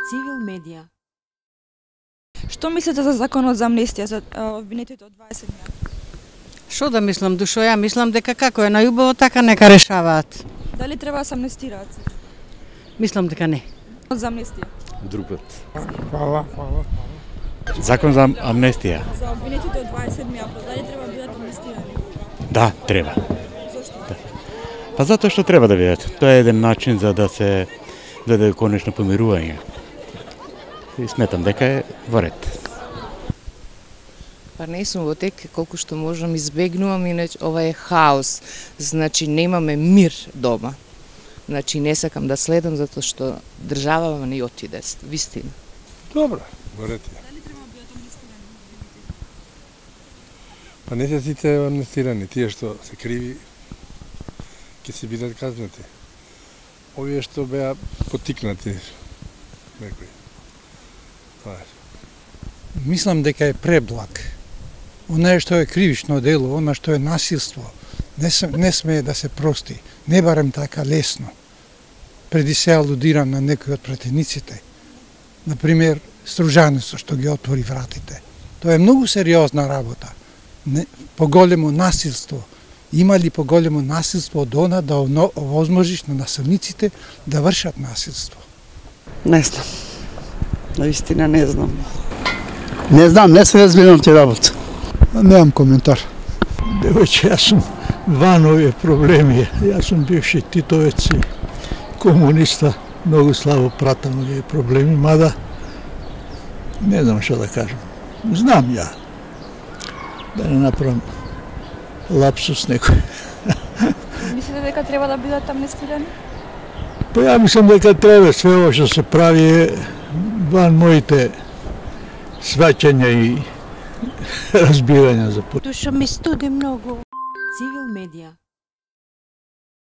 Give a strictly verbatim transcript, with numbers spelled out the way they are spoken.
Цивил медија. Што мислите за законот за амнестија за обвинетите од дваесет дена? Што да мислам, душо, ја мислам дека како е најубаво, така нека решаваат. Дали треба да се амнестираат? Мислам дека не. За амнестија. Друг пат. Фала, фала. Закон за амнестија. За обвинетите од дваесет април, дали треба да бидат амнестирани? Да, треба. Зошто? Да. Па затоа што треба да бидат. Тоа е еден начин за да се дојде конечно помирување. И сметам дека е во ред. Па не сум во тек, колку што можам избегнувам, иначе ова е хаос. Значи немаме мир дома. Значи не сакам да следам затоа што државава не отиде, вистина. Добро, во ред е. Дали треба да бидат амнестирани? Па не се сите амнестирани, тие што се криви ќе се бидат казнати. Овие што беа потикнати некои. Тоа е. Мислам дека е преблаг. Она што е кривично дело, она што е насилство, не, се, не смее да се прости. Не барем така лесно. Преди се алудирам на некои од пратениците. Например, Стружанецо што ги отвори вратите. Тоа е многу сериозна работа. Не, поголемо насилство. Има ли поголемо насилство од она да овозможиш на насилниците да вршат насилство? Не знам. Наистина не знам. Не знам, не се разбирам ти работа. Немам коментар. Девојче, јас сум ван овие проблеми. Јас сум бивши титовец и комуниста. Многу слабо пратам овие проблеми, мада не знам што да кажам. Знам ја. Да не направам лапсус некој. Мислите дека треба да бидат амнестирани? Па ја мислам дека треба, све ово што се прави е ван моите сваќања и разбирања за пut. Душа ми студи многу. Цивил медија.